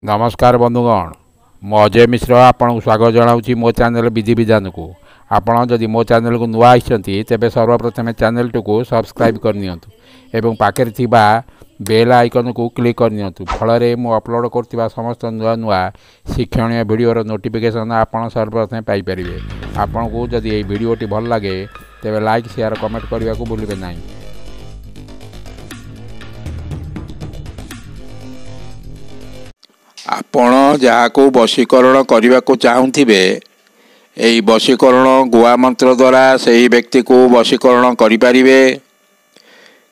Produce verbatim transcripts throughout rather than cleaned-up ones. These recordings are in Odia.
ନମସ୍କାର ବନ୍ଧୁଗଣ, ମୁଁ ଅଜୟ ମିଶ୍ର ଆପଣଙ୍କୁ ସ୍ୱାଗତ ଜଣାଉଛି ମୋ ଚ୍ୟାନେଲ ବିଧିବିଧାନକୁ। ଆପଣ ଯଦି ମୋ ଚ୍ୟାନେଲକୁ ନୂଆ ଆସିଛନ୍ତି, ତେବେ ସର୍ବପ୍ରଥମେ ଚ୍ୟାନେଲଟିକୁ ସବସ୍କ୍ରାଇବ୍ କରିନିଅନ୍ତୁ ଏବଂ ପାଖରେ ଥିବା ବେଲ୍ ଆଇକନ୍କୁ କ୍ଲିକ୍ କରିନିଅନ୍ତୁ। ଫଳରେ ମୁଁ ଅପଲୋଡ଼ କରୁଥିବା ସମସ୍ତ ନୂଆ ନୂଆ ଶିକ୍ଷଣୀୟ ଭିଡ଼ିଓର ନୋଟିଫିକେସନ୍ ଆପଣ ସର୍ବପ୍ରଥମେ ପାଇପାରିବେ। ଆପଣଙ୍କୁ ଯଦି ଏହି ଭିଡ଼ିଓଟି ଭଲ ଲାଗେ, ତେବେ ଲାଇକ୍, ସେୟାର, କମେଣ୍ଟ କରିବାକୁ ଭୁଲିବେ ନାହିଁ। ଆପଣ ଯାହାକୁ ବଶୀକରଣ କରିବାକୁ ଚାହୁଁଥିବେ, ଏହି ବଶୀକରଣ ଗୁଆ ମନ୍ତ୍ର ଦ୍ୱାରା ସେହି ବ୍ୟକ୍ତିକୁ ବଶୀକରଣ କରିପାରିବେ।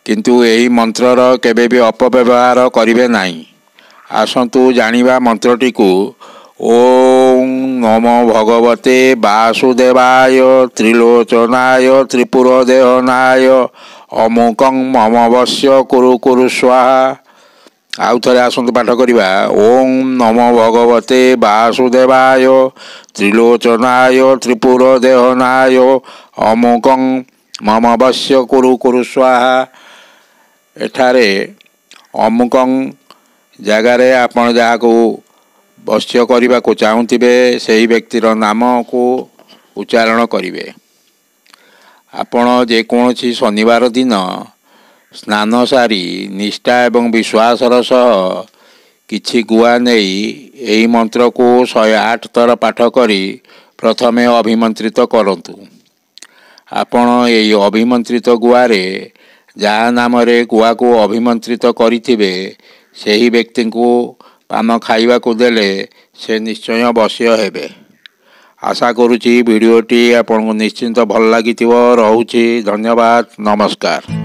କିନ୍ତୁ ଏହି ମନ୍ତ୍ରର କେବେ ବି ଅପବ୍ୟବହାର କରିବେ ନାହିଁ। ଆସନ୍ତୁ ଜାଣିବା ମନ୍ତ୍ରଟିକୁ। ଓଁ ନମୋ ଭଗବତେ ବାସୁଦେବାୟ ତ୍ରିଲୋଚନାୟ ତ୍ରିପୁର ଦେହନାୟ ଅମୁକଂ ମମ ବଶ୍ୟ କୁରୁ କୁରୁ ସ୍ୱାହା। ଆଉ ଥରେ ଆସନ୍ତୁ ପାଠ କରିବା। ଓଁ ନମୋ ଭଗବତେ ବାସୁଦେବାୟ ତ୍ରିଲୋଚନାୟ ତ୍ରିପୁର ଦେହନାୟ ଅମୁକଂ ମମ ବଶ୍ୟ କୁରୁ କୁରୁ ସ୍ୱାହା। ଏଠାରେ ଅମୁକଂ ଜାଗାରେ ଆପଣ ଯାହାକୁ ବଶ୍ୟ କରିବାକୁ ଚାହୁଁଥିବେ, ସେହି ବ୍ୟକ୍ତିର ନାମକୁ ଉଚ୍ଚାରଣ କରିବେ। ଆପଣ ଯେକୌଣସି ଶନିବାର ଦିନ ସ୍ନାନ ସାରି ନିଷ୍ଠା ଏବଂ ବିଶ୍ୱାସର ସହ କିଛି ଗୁଆ ନେଇ ଏହି ମନ୍ତ୍ରକୁ ଶହେ ଆଠ ଥର ପାଠ କରି ପ୍ରଥମେ ଅଭିମନ୍ତ୍ରିତ କରନ୍ତୁ। ଆପଣ ଏହି ଅଭିମନ୍ତ୍ରିତ ଗୁଆରେ ଯାହା ନାମରେ ଗୁଆକୁ ଅଭିମନ୍ତ୍ରିତ କରିଥିବେ, ସେହି ବ୍ୟକ୍ତିଙ୍କୁ ପାନ ଖାଇବାକୁ ଦେଲେ ସେ ନିଶ୍ଚୟ ବଶ୍ୟ ହେବେ। ଆଶା କରୁଛି ଭିଡ଼ିଓଟି ଆପଣଙ୍କୁ ନିଶ୍ଚିନ୍ତ ଭଲ ଲାଗିଥିବ। ରହୁଛି, ଧନ୍ୟବାଦ, ନମସ୍କାର।